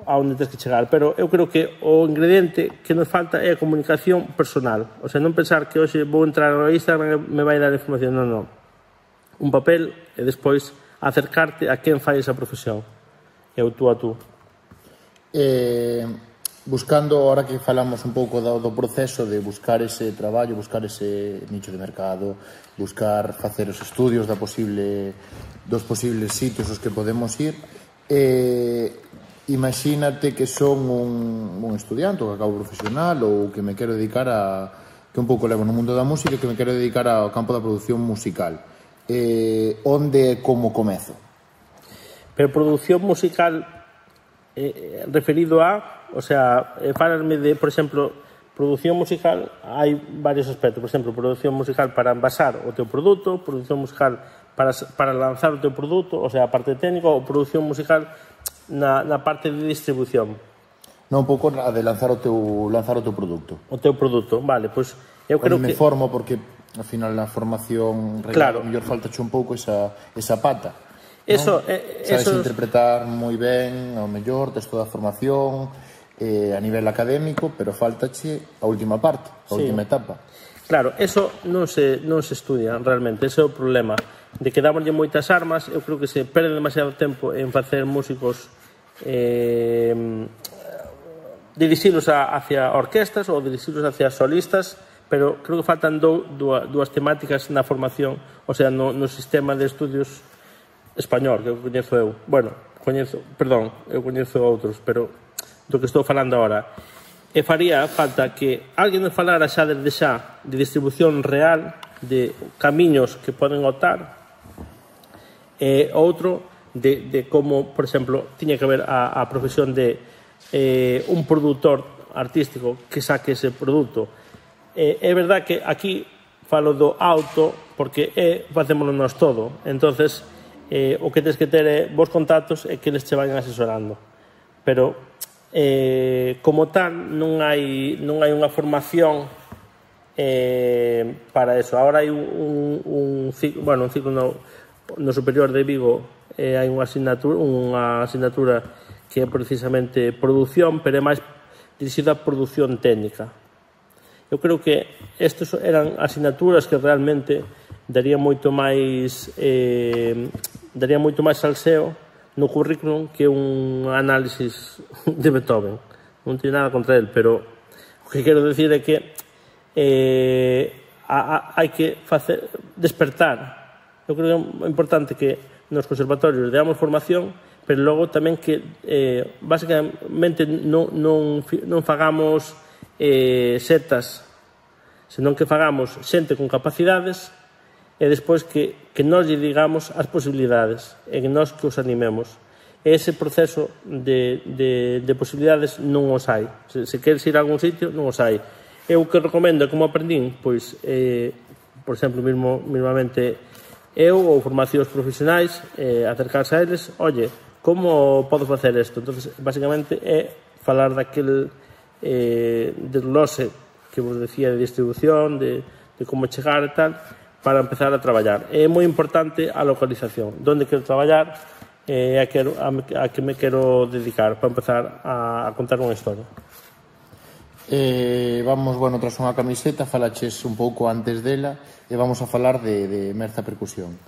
a onde tens que chegar. Pero eu creo que o ingrediente que nos falta é a comunicación personal, o sea, non pensar que hoxe vou entrar no Instagram e me vai dar información, non, non, un papel e despois acercarte a quen fai esa profesión, e o tú a tú. Eh... Buscando, ahora que falamos un pouco do, do proceso de buscar ese traballo, buscar ese nicho de mercado, buscar facer os estudios da posible, dos posibles sitios aos que podemos ir, eh, imagínate que son un, un estudiante ou que acabo profesional ou que me quero dedicar a, que un pouco levo no mundo da música, que me quero dedicar ao campo da produción musical. Eh, onde e como comezo? Pero produción musical eh, referido a... O sea, eh, falarme de, por exemplo, produción musical, hai varios aspectos. Por exemplo, produción musical para envasar o teu produto, produción musical para, para lanzar o teu produto, o sea, a parte técnica, ou produción musical na, na parte de distribución. Non, un pouco a de lanzar o teu, lanzar o teu produto. O teu produto, vale, pois eu creo que... me que... formo, porque ao final na formación claro, mellor faltache un pouco esa, esa pata. Eso, ¿no? eh, Sabes eso... interpretar moi ben, ao mellor, tes toda a formación eh, a nivel académico, pero faltache a última parte, a sí. última etapa. Claro, eso non se, non se estudia realmente, ese é o problema, de que dámoslle moitas armas. Eu creo que se perde demasiado tempo en facer músicos eh, dirixilos a, hacia orquestas ou dirixilos hacia solistas, pero creo que faltan do, dúas, dúas temáticas na formación, o sea, no, no sistema de estudios español, que eu coñezo eu. Bueno, coñezo, perdón, eu coñezo outros, pero do que estou falando agora. E faría falta que alguén nos falara xa desde xa de distribución real, de camiños que poden optar, E outro de, de como, por exemplo, tiña que haber a, a profesión de eh, un produtor artístico que saque ese produto. Eh, é verdad que aquí falo do auto porque é, facémoslo nós todo. Entonces, eh, o que tens que ter é vos contactos e que eles che vayan asesorando. Pero, eh, como tal, non hai, non hai unha formación eh, para eso. Ahora hai un, un, un ciclo, bueno, un ciclo no, no superior de Vigo, eh, hai unha asignatura, unha asignatura que é precisamente produción, pero é máis dirigida a produción técnica. Eu creo que estas eran asignaturas que realmente daría moito máis eh, daría moito máis salseo no currículum que un análisis de Beethoven. Non teño nada contra él, pero o que quero decir é que eh, a, a, hai que facer, despertar. Eu creo que é importante que nos conservatorios deamos formación, pero logo tamén que eh, basicamente non, non, non fagamos eh, setas, senón que fagamos xente con capacidades e despois que, que nós lle digamos as posibilidades e que nós que os animemos. E ese proceso de, de, de posibilidades non os hai. Se, se queres ir a algún sitio, non os hai. Eu que recomendo como aprendín, pois, eh, por exemplo, mismo, mismamente eu ou formacións profesionais, eh, acercarse a eles, oye, como podo facer isto? Entonces, basicamente, é falar daquele eh, desglose que vos decía de distribución, de, de como chegar e tal, para empezar a traballar. É moi importante a localización. Donde quero traballar e eh, a, quero, a, a que me quero dedicar para empezar a, a contar unha historia. Eh, vamos, bueno, tras unha camiseta, falaches un pouco antes dela e vamos a falar de, de Merza Percusión.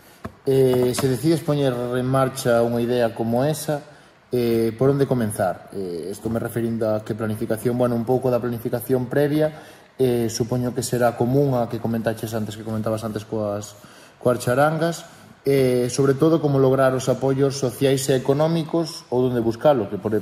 Eh, se decides poñer en marcha unha idea como esa, eh, por onde comenzar? Eh, estou me referindo a que planificación, bueno, un pouco da planificación previa, eh, supoño que será común a que comentaches antes, que comentabas antes coas, coas charangas, eh, sobre todo como lograr os apoios sociais e económicos ou onde buscalo, que, por,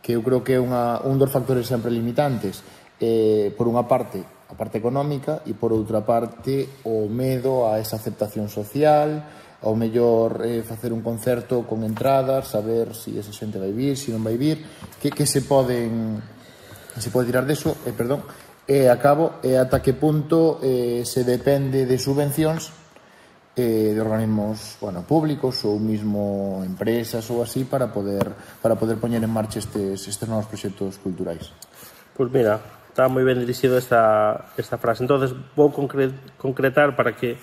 que eu creo que é unha, un dos factores sempre limitantes. Eh, por unha parte, a parte económica, e por outra parte, o medo a esa aceptación social, ao mellor eh, facer un concerto con entradas, saber se si esa xente vai vir, se si non vai vir, que, que se poden se pode tirar deso, eh, perdón, e acabo, e ata que punto eh, se depende de subvencións eh, de organismos, bueno, públicos ou mismo empresas ou así para poder para poder poñer en marcha estes, estes novos proxectos culturais. Pois mira, está moi ben dirixido esta, esta frase. Entonces vou concre concretar para que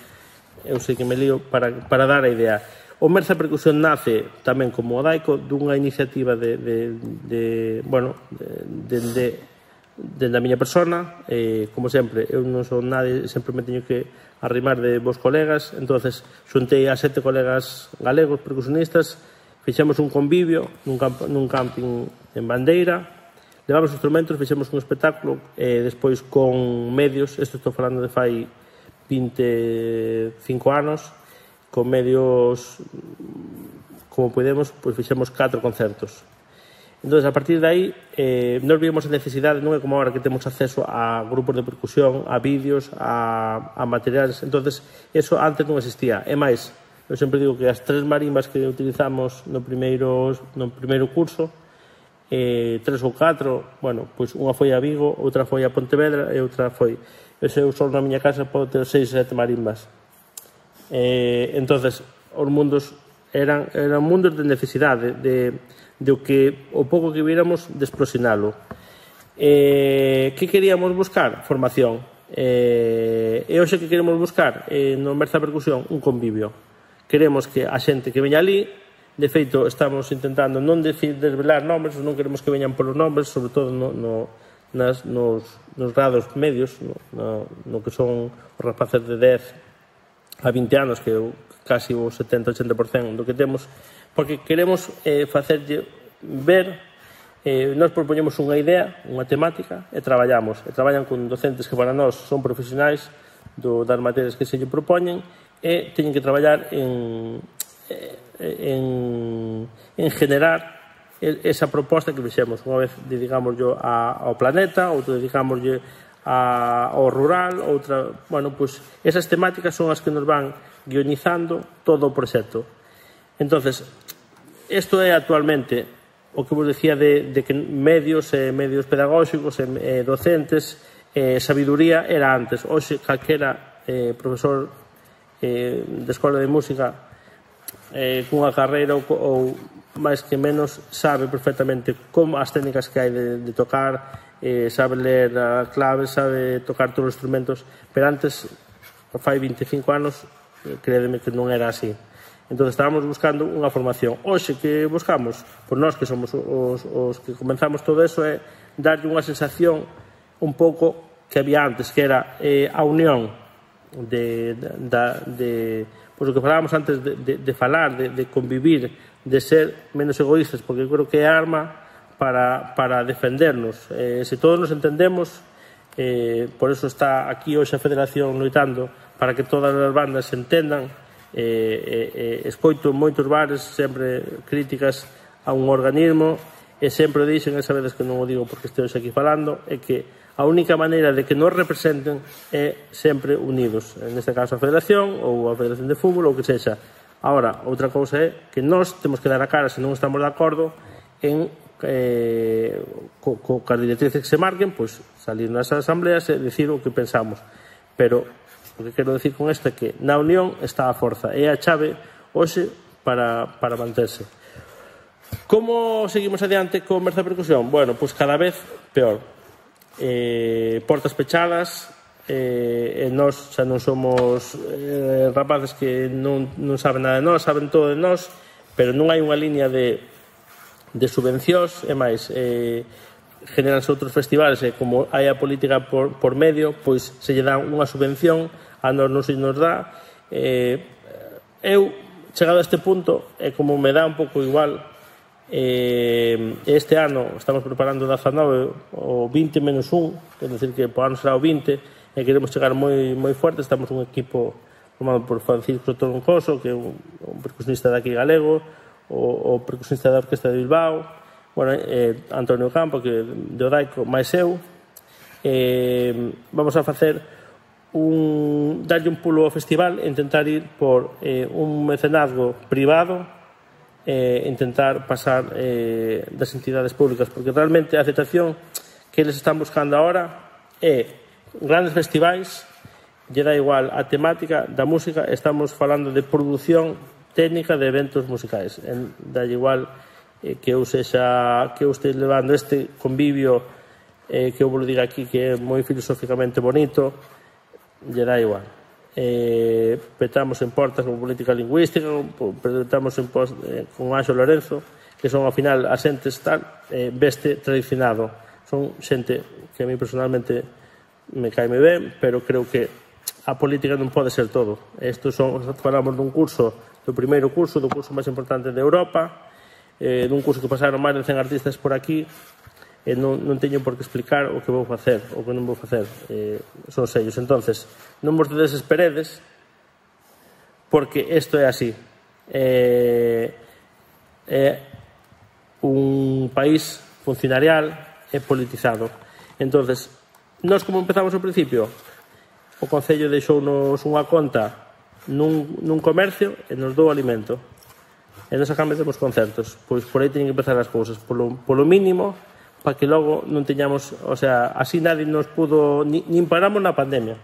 eu sei que me lío para, para dar a idea. O Merza Percusión nace tamén como Odaico dunha iniciativa de, de, de bueno, de, de, de, de a miña persona. Eh, como sempre, eu non son nadie, sempre me teño que arrimar de vos colegas. Entonces xuntei a sete colegas galegos percusionistas, fixemos un convivio nun, camp nun camping en Bandeira, levamos instrumentos, fixemos un espectáculo e despois con medios, isto estou falando de fai vinte e cinco anos, con medios como podemos, pois fixemos catro concertos. Entón, a partir de aí, eh, nos vimos a necesidade, non é como agora que temos acceso a grupos de percusión, a vídeos, a, a materiales. Entón, eso antes non existía. É máis, eu sempre digo que as tres marimbas que utilizamos no primeiro, no primeiro curso, eh, tres ou catro, bueno, pois unha foi a Vigo, outra foi a Pontevedra e outra foi... Eu só na miña casa podo ter seis, sete marimbas. Eh, entonces, os mundos eran, eran mundos de necesidade, de, de o que o pouco que viéramos de explosionalo. Eh, que queríamos buscar? Formación. Eh, e hoxe que queremos buscar eh, no Merza Percusión? Un convivio. Queremos que a xente que veña ali, de feito, estamos intentando non desvelar nombres, non queremos que veñan polos nombres, sobre todo no... no Nas, nos, nos grados medios, no, no, no que son os rapaces de dez a vinte anos, que casi o setenta a oitenta por cento do que temos, porque queremos eh, facerlle ver, eh, nós propoñemos unha idea, unha temática, e traballamos, e traballan con docentes que para nós son profesionais do, das materias que se lle propoñen, e teñen que traballar en, en, en generar esa proposta que fixemos. Unha vez dedicámoslle ao planeta, outra dedicámoslle ao rural, outra... Bueno, pois esas temáticas son as que nos van guionizando todo o proxecto. Entonces, isto é actualmente o que vos decía de, de que medios, eh, medios pedagóxicos, eh, docentes, eh, sabiduría era antes. Hoxe, calquera eh, profesor eh, de escola de música eh, cunha carreira ou, ou máis que menos sabe perfectamente como as técnicas que hai de, de tocar, eh, sabe ler a clave, sabe tocar todos os instrumentos, pero antes, fai veinticinco anos, crédeme que non era así. Entón, estábamos buscando unha formación. Hoxe, que buscamos? Pois nós que somos os, os que comenzamos todo eso é darlle unha sensación un pouco que había antes, que era eh, a unión de, de, de pois o que falábamos antes de, de, de falar, de, de convivir, de ser menos egoístas, porque eu creo que é arma para, para defendernos. Eh, se todos nos entendemos, eh, por eso está aquí hoxe a Federación loitando para que todas as bandas se entendan. Eh, eh, escoito moitos bares sempre críticas a un organismo e sempre dixen, e sabedes que non o digo porque estou aquí falando, é que a única maneira de que nos representen é sempre unidos, neste caso a Federación ou a Federación de Fútbol ou que sexa. Agora, outra cousa é que nós temos que dar a cara, se non estamos de acordo en eh, co, co, co as directrices que se marquen, pois salir nas asambleas e decir o que pensamos, pero o que quero decir con isto é que na unión está a forza, é a chave hoxe para, para manterse. Como seguimos adiante con Merza Percusión? Bueno, pois cada vez peor. Eh, portas pechadas, eh, e nós xa non somos eh, rapaces que non, non saben nada de nós, saben todo de nós, pero non hai unha línea de, de subvencións, e máis, eh, generanse outros festivales, e como hai a política por, por medio, pois se lle dá unha subvención, a nos non se nos dá. Eh, eu, chegado a este punto, é como me dá un pouco igual. Eh, este ano estamos preparando dezanove o vinte menos un, é dicir que por ano será o vinte, e queremos chegar moi, moi fuerte. Estamos un equipo formado por Francisco Troncoso, que é un, un percusionista de aquí galego, o, o percusionista da Orquesta de Bilbao, bueno, eh, Antonio Campo, que de Odaico, máis eu. Eh, vamos a facer un, darlle un pulo ao festival e intentar ir por eh, un mecenazgo privado, e eh, intentar pasar eh, das entidades públicas, porque realmente a aceptación que eles están buscando agora é grandes festivais, lle dá igual a temática da música, estamos falando de produción técnica de eventos musicais, en, dá igual eh, que eu sexa, que eu este levando este convivio eh, que eu vou diga aquí que é moi filosóficamente bonito, lle dá igual. Eh, petamos en portas con política lingüística, petamos en post, eh, con Anxo Lorenzo, que son ao final asentes tal, eh, veste tradicionado. Son xente que a mí personalmente me cae moi ben, pero creo que a política non pode ser todo. Estos son, falamos dun curso, do primeiro curso, do curso máis importante de Europa, eh, dun curso que pasaron máis de cen artistas por aquí, e non, non teño por que explicar o que vou facer, o que non vou facer, eh, son sellos. Entonces, non vos desesperedes, porque isto é así. Eh, é un país funcionarial e politizado. Entonces, nós como empezamos ao principio, o Concello deixounos unha conta nun, nun comercio e nos dou alimento. E nos acabamos temos concertos. Pois por aí teñen que empezar as cousas. Polo, polo mínimo, para que logo non teñamos, o sea, así nadie nos pudo, ni, nin paramos na pandemia.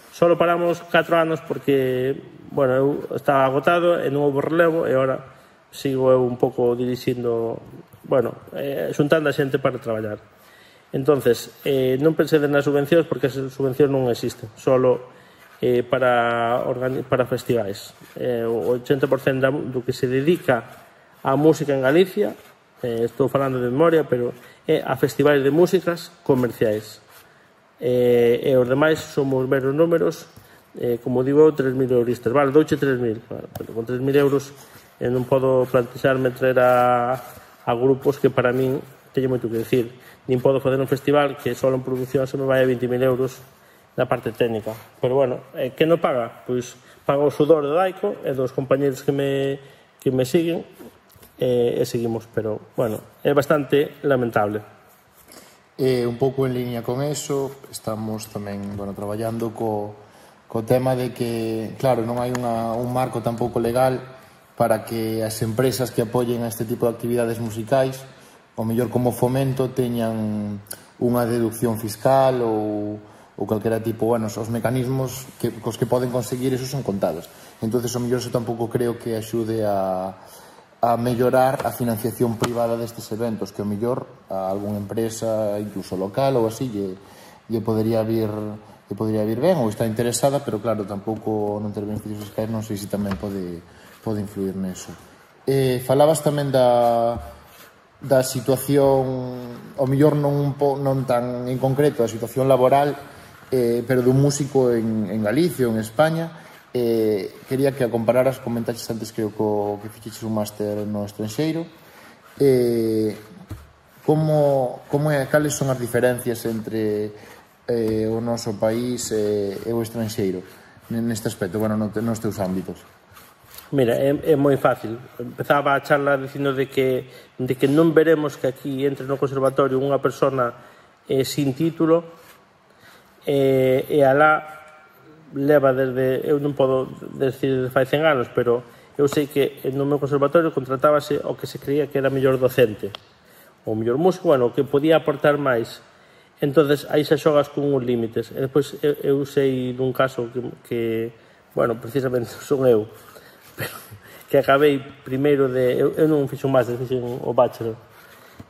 Solo paramos catro anos porque, bueno, eu estaba agotado e non houve relevo, e agora sigo eu un pouco dirixindo, bueno, eh, xuntando a xente para traballar. Entonces, eh, non pensei nas subvencións porque as subvencións non existen, solo eh, para, para festivais. Eh, o oitenta por cento do que se dedica á música en Galicia, eh, estou falando de memoria, pero é a festivais de músicas comerciais. Eh, e os demais somos meros números, eh, como digo, tres mil euristas. Vale, douche tres mil, vale, pero con tres mil euros eh, non podo plantexarme traer a, a grupos que para min teño moito que decir. Nin podo fazer un festival que só en produción se me vai a vinte mil euros na parte técnica. Pero bueno, eh, que non paga? Pois paga o sudor do Daico e dos compañeros que me, que me siguen, e, e seguimos, pero, bueno, é bastante lamentable. E un pouco en línea con eso, estamos tamén, bueno, traballando co, co tema de que, claro, non hai unha, un marco tampouco legal para que as empresas que apoyen a este tipo de actividades musicais, o mellor como fomento, teñan unha deducción fiscal ou, ou calquera tipo, bueno, os mecanismos que, cos que poden conseguir esos son contados. Entonces, o mellor, eso tampouco creo que axude a, a mellorar a financiación privada destes eventos, que o mellor a algunha empresa, incluso local ou así, lle, lle podería vir lle podería vir ben ou está interesada, pero claro, tampouco non ter beneficios fiscais, non sei se tamén pode, pode influir neso. Eh, falabas tamén da da situación, o mellor non, non tan en concreto, a situación laboral, eh, pero dun músico en, en Galicia ou en España. Eh, quería que a compararas, comentaches antes creo que, que ficheches un máster no estranxeiro. Eh, como, como é, cales son as diferencias entre eh, o noso país e, e o estranxeiro neste aspecto, bueno, nos teus ámbitos? Mira, é, é moi fácil. Empezaba a charla dicindo de que, de que non veremos que aquí entre no conservatorio unha persona eh, sin título eh, e alá leva desde, eu non podo decir de fai cen anos, pero eu sei que no meu conservatorio contratábase o que se creía que era mellor docente, o mellor músico, bueno, o que podía aportar máis. Entonces aí xa xogas con uns límites. E depois eu, eu sei dun caso que, que bueno, precisamente son eu, pero que acabei primeiro de... Eu, eu non fixo un máster, fixo o bachelor.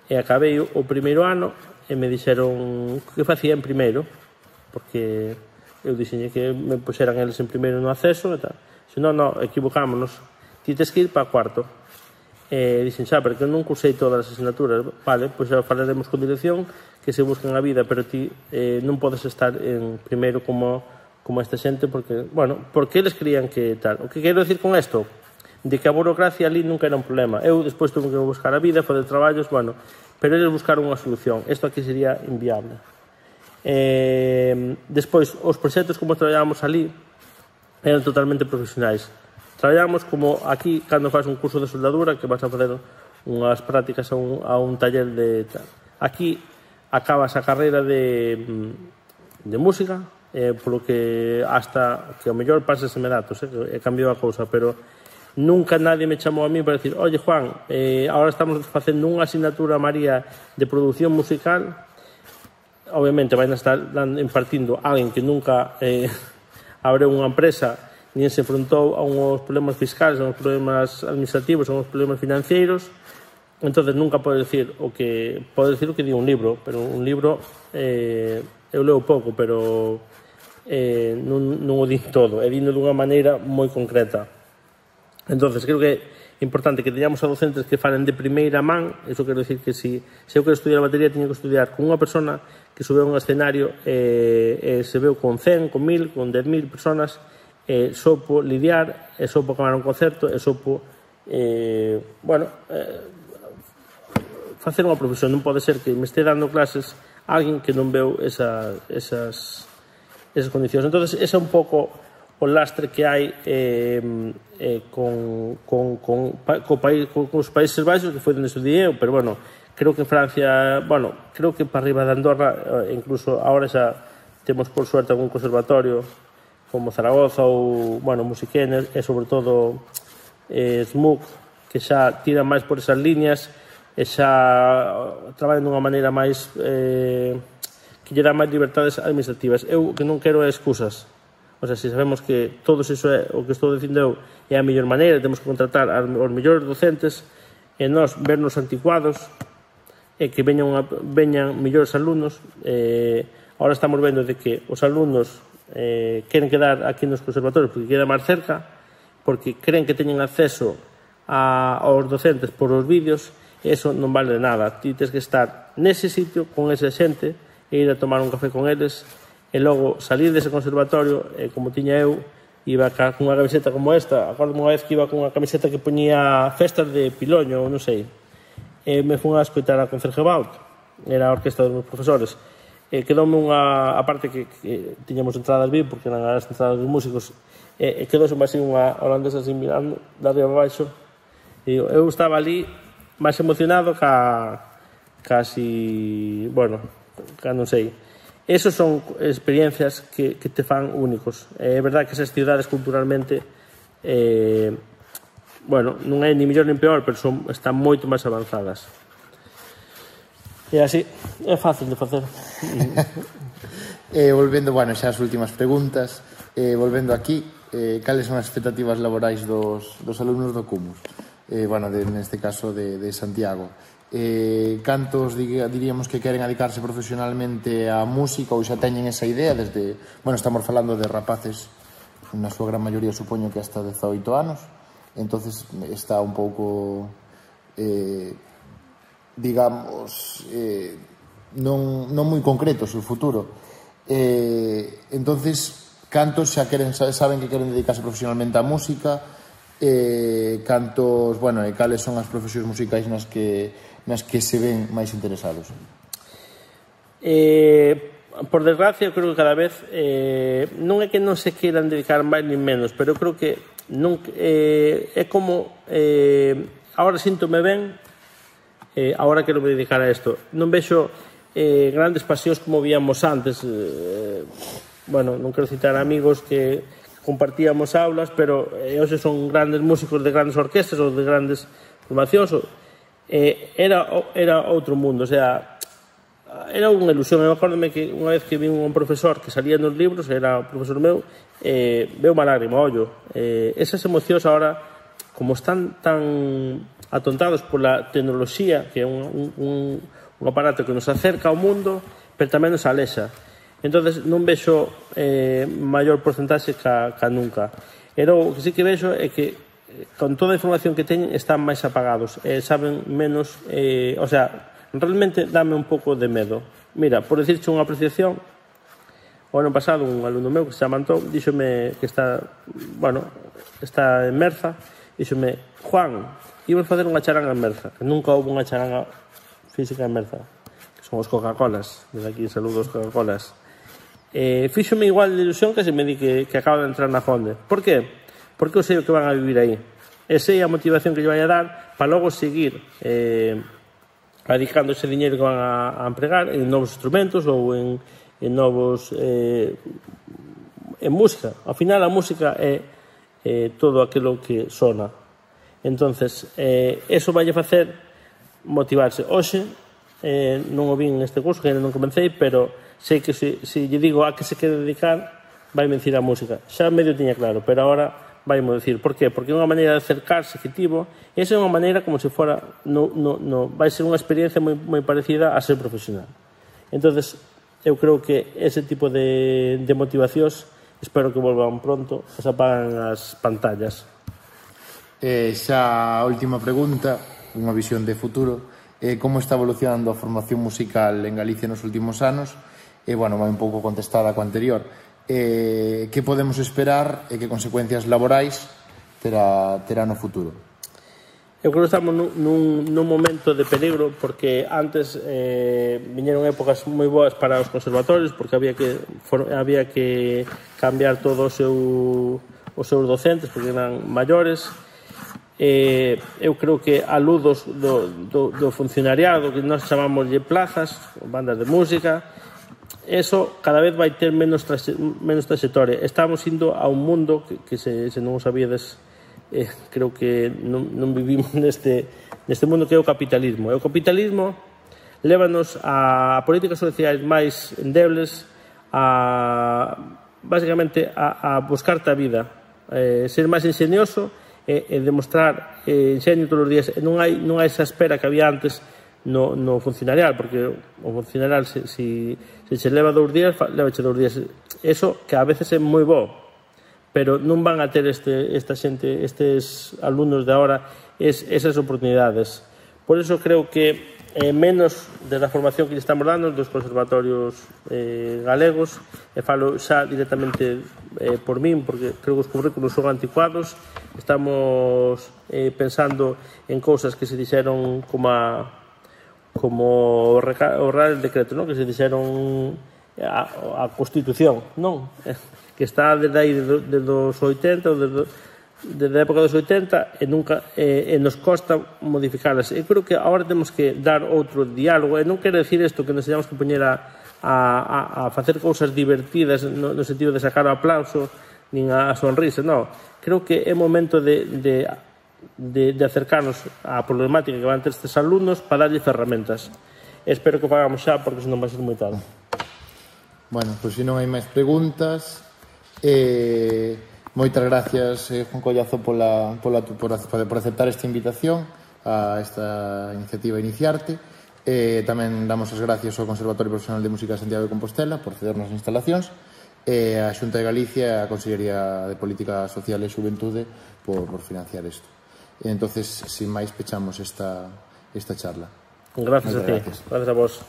E acabei o primeiro ano e me dixeron que facía en primeiro, porque eu dixenlle que me puxeran eles en primeiro no acceso e tal. Se non, non, equivocámonos. Ti tes que ir para cuarto. E dixen, xa, porque non cursei todas as asignaturas. Vale, pois xa falaremos con dirección que se buscan a vida, pero ti eh, non podes estar en primeiro como... como esta xente, porque, bueno, porque eles creían que tal. O que quero decir con isto, de que a burocracia ali nunca era un problema. Eu despois tuve que buscar a vida, fazer traballos, bueno, pero eles buscaron unha solución. Isto aquí sería inviable. Eh, despois, os proxectos como traballábamos ali eran totalmente profesionais. Traballábamos como aquí, cando faz un curso de soldadura, que vas a fazer unhas prácticas a un, a un taller de tal. Aquí acabas a carreira de, de música, eh, polo que hasta que o mellor paseseme datos, eh, que cambiou a cousa, pero nunca nadie me chamou a mí para decir, oye Juan, eh, ahora estamos facendo unha asignatura María de produción musical. Obviamente vai a estar impartindo a alguén que nunca eh, abriu unha empresa nin se enfrontou a uns problemas fiscales, a uns problemas administrativos, a uns problemas financeiros. Entonces nunca pode decir o que pode decir o que di un libro, pero un libro eh, eu leo pouco, pero eh, non, non o di todo, é dindo dunha maneira moi concreta. Entonces creo que é importante que teñamos a docentes que falen de primeira man. Eso quero decir que si, se eu quero estudiar a batería, teño que estudiar con unha persona que sube a un escenario e eh, eh, se veu con cen, con mil, con dez mil personas, eh, sopo lidiar, e sopo acabar un concerto, e sopo eh, bueno eh, facer unha profesión. Non pode ser que me este dando clases alguén que non veu esa, esas, esas condicións. Entonces, ese é un pouco o lastre que hai eh, eh, con, con, con, co país, con, con os Países Baixos, que foi onde estudiei eu, pero bueno, creo que Francia, bueno, creo que para arriba de Andorra, incluso ahora xa temos por suerte algún conservatorio como Zaragoza ou, bueno, Musiquenes, e sobre todo eh, S M U C, que xa tira máis por esas líneas e xa traballan dunha maneira máis eh, que lle dá máis libertades administrativas. Eu que non quero é excusas. O sea, se sabemos que todo iso é o que estou dicindo eu é a mellor maneira, temos que contratar aos mellores docentes e nós vernos anticuados e que veñan, unha, veñan mellores alumnos. Eh, ahora estamos vendo de que os alumnos eh, queren quedar aquí nos conservatorios porque queda máis cerca, porque creen que teñen acceso a, aos docentes por os vídeos, e iso non vale nada. Ti tens que estar nese sitio con esa xente e ir a tomar un café con eles, e logo salir dese conservatorio, e como tiña eu, iba con unha camiseta como esta. Acordo unha vez que iba con unha camiseta que poñía festas de Piloño, ou non sei, e me fui a escoitar a Concerge Baut, era a orquesta dos meus profesores, e quedoume unha, aparte que, que tiñamos entradas V I P, porque eran as entradas dos músicos, e, e quedoume así unha holandesa así mirando de arriba abaixo, e eu estaba ali máis emocionado ca casi, bueno, ca non sei. Esos son experiencias que, que te fan únicos. É verdade que esas ciudades culturalmente eh, bueno, non é ni mellor nin peor, pero son, están moito máis avanzadas. E así, é fácil de facer. eh, volvendo, bueno, xa as últimas preguntas, eh, volvendo aquí, eh, cales son as expectativas laborais dos, dos alumnos do Cumus? Eh, bueno, de, neste caso de, de Santiago. Eh, cantos diríamos que queren dedicarse profesionalmente á música ou xa teñen esa idea desde, bueno, estamos falando de rapaces na súa gran maioría supoño que hasta dezaoito anos, entonces está un pouco eh, digamos eh, non, non moi concreto o seu futuro, eh, entonces cantos xa queren, saben que queren dedicarse profesionalmente á música, eh, cantos, bueno, e cales son as profesións musicais nas que nas que se ven máis interesados? Eh, por desgracia, eu creo que cada vez eh, non é que non se queiran dedicar máis ni menos, pero eu creo que non, eh, é como eh, ahora síntome ben, eh, ahora quero me dedicar a isto. Non vexo eh, grandes pasións como víamos antes, eh, bueno, non quero citar amigos que compartíamos aulas, pero eh, hoxe son grandes músicos de grandes orquestas ou de grandes formacións, ou Eh, era, era outro mundo, o sea, era unha ilusión. Eu acordome que unha vez que vi un profesor que salía nos libros, era o profesor meu, eh, veo unha lágrima, ollo. Eh, esas emocións ahora, como están tan atontados pola tecnoloxía, que é un, un, un aparato que nos acerca ao mundo, pero tamén nos alexa. Entonces non vexo eh, maior porcentaxe ca, ca nunca. Pero o que sí que vexo é que con toda a información que teñen están máis apagados, eh, saben menos, eh, o sea, realmente dame un pouco de medo. Mira, por decirche unha apreciación, o ano pasado un alumno meu que se chama Antón díxome que está, bueno, está en Merza, díxome, Juan, íbamos facer unha charanga en Merza, que nunca houve unha charanga física en Merza, que son os Coca-Colas, desde aquí saludos Coca-Colas. Eh, fíxome igual de ilusión que se me di que, que acaba de entrar na Fonde. Por qué? Porque eu sei o que van a vivir aí. E sei a motivación que lle vai a dar para logo seguir eh, adicando ese diñeiro que van a, a empregar en novos instrumentos ou en, en novos... Eh, en música. Ao final, a música é eh, todo aquilo que sona. Entonces, eh, eso vai a facer motivarse. Hoxe, eh, non o vin neste curso, que ainda non comecei, pero sei que se, se lle digo a que se quere dedicar, vai me dicir a música. Xa medio tiña claro, pero agora vaimo dicir. Por qué? Porque é unha maneira de acercarse efectivo, e esa é unha maneira como se fora no, no, no, vai ser unha experiencia moi, moi parecida a ser profesional. Entonces, eu creo que ese tipo de, de motivacións espero que volvan pronto, que se apagan as pantallas. Eh, xa a última pregunta, unha visión de futuro, eh, como está evolucionando a formación musical en Galicia nos últimos anos? E, eh, bueno, vai un pouco contestada co anterior. Eh, que podemos esperar e que consecuencias laborais terá, terá no futuro? Eu creo que estamos nun, nun, nun momento de peligro, porque antes eh, viñeron épocas moi boas para os conservatorios, porque había que, for, había que cambiar todo o seu, os seus docentes, porque eran maiores. Eh, eu creo que a luz dos, do, do, do funcionariado, que nós chamamos de plazas, bandas de música, eso cada vez vai ter menos, traxe, menos trayectoria. Estamos indo a un mundo que, que se, se non o sabíades, eh, creo que non, non vivimos neste, neste mundo que é o capitalismo. E o capitalismo lévanos a políticas sociais máis endebles, a basicamente a, a buscarte a vida, eh, ser máis ingenioso e, e demostrar eh, ingenio todos os días. Non hai, non hai esa espera que había antes no, no funcionarial, porque o funcionarial se, se, se se leva dous días, levache dous días. Eso que a veces é moi bo, pero non van a ter este, esta xente, estes alumnos de agora es, esas oportunidades. Por eso creo que eh, menos de la formación que lle estamos dando dos conservatorios eh, galegos, e falo xa directamente eh, por min, porque creo que os currículos son anticuados. Estamos eh, pensando en cousas que se dixeron como a como o Real Decreto, non? Que se dixeron a, a Constitución, non? Que está desde aí desde os oitenta ou desde, desde a época dos oitenta e nunca e, e nos costa modificalas. E creo que agora temos que dar outro diálogo, e non quero decir isto que nos teñamos que poñer a, a, a facer cousas divertidas no, no sentido de sacar o aplauso nin a sonrisa, non. Creo que é momento de, de de, de acercarnos á problemática que van ter estes alumnos para darlle ferramentas. Espero que o fagamos xa, porque senón vai ser moi tarde. Bueno, pois se non hai máis preguntas, eh, moitas gracias, eh, Juan Collazo, pola, pola, por, por aceptar esta invitación a esta iniciativa Iniciarte. Eh, tamén damos as gracias ao Conservatorio Profesional de Música de Santiago de Compostela por cedernos as instalacións, e a Xunta de Galicia e a Consellería de Política Social e Xuventude por, por financiar isto. E entonces, sin máis, pechamos esta, esta charla. Gracias a ti, gracias. gracias a vos.